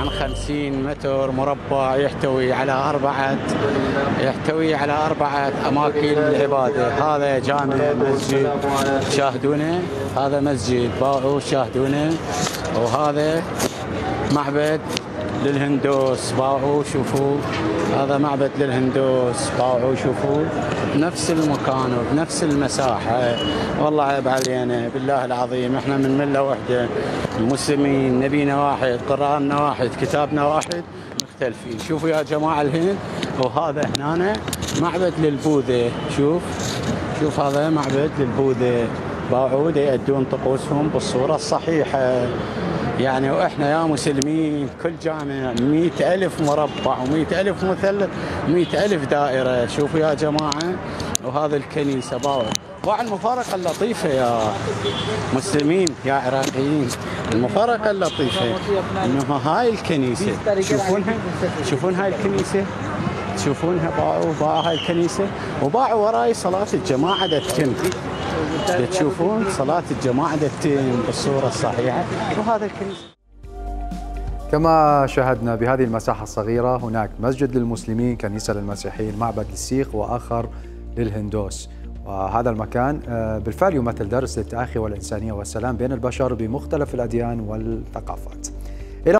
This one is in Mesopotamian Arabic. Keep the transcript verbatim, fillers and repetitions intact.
عن خمسين متر مربع، يحتوي على أربعة يحتوي على أربعة أماكن للعبادة. هذا جامع مسجد شاهدونه، هذا مسجد باعوا شاهدونه، وهذا معبد للهندوس باعوا شوفوا، هذا معبد للهندوس باعوا شوفوا، بنفس المكان وبنفس المساحة. والله عيب علينا بالله العظيم، احنا من ملة واحدة، المسلمين نبينا واحد، قرآننا واحد، كتابنا واحد، مختلفين. شوفوا يا جماعة الهند، وهذا هنا معبد للبوذا، شوف شوف هذا معبد للبوذا باعوا يأدون طقوسهم بالصورة الصحيحة. يعني وإحنا يا مسلمين كل جامع مئة ألف مربع ومئة ألف مثلث، مئة ألف دائرة. شوفوا يا جماعة، وهذا الكنيسة باعوا باع. المفارقة اللطيفة يا مسلمين يا عراقيين، المفارقة اللطيفة إنه هاي الكنيسة تشوفونها، تشوفون هاي الكنيسة، تشوفونها باعوا باعوا هاي الكنيسة، وباعوا وراي صلاة الجماعة تتم، تشوفون صلاة الجماعة تتم بالصورة الصحيحة. وهذا الكنيسة كما شاهدنا بهذه المساحة الصغيرة، هناك مسجد للمسلمين، كنيسة للمسيحيين، معبد للسيخ، وآخر للهندوس. وهذا المكان بالفعل يمثل درس للتآخي والإنسانية والسلام بين البشر بمختلف الأديان والثقافات.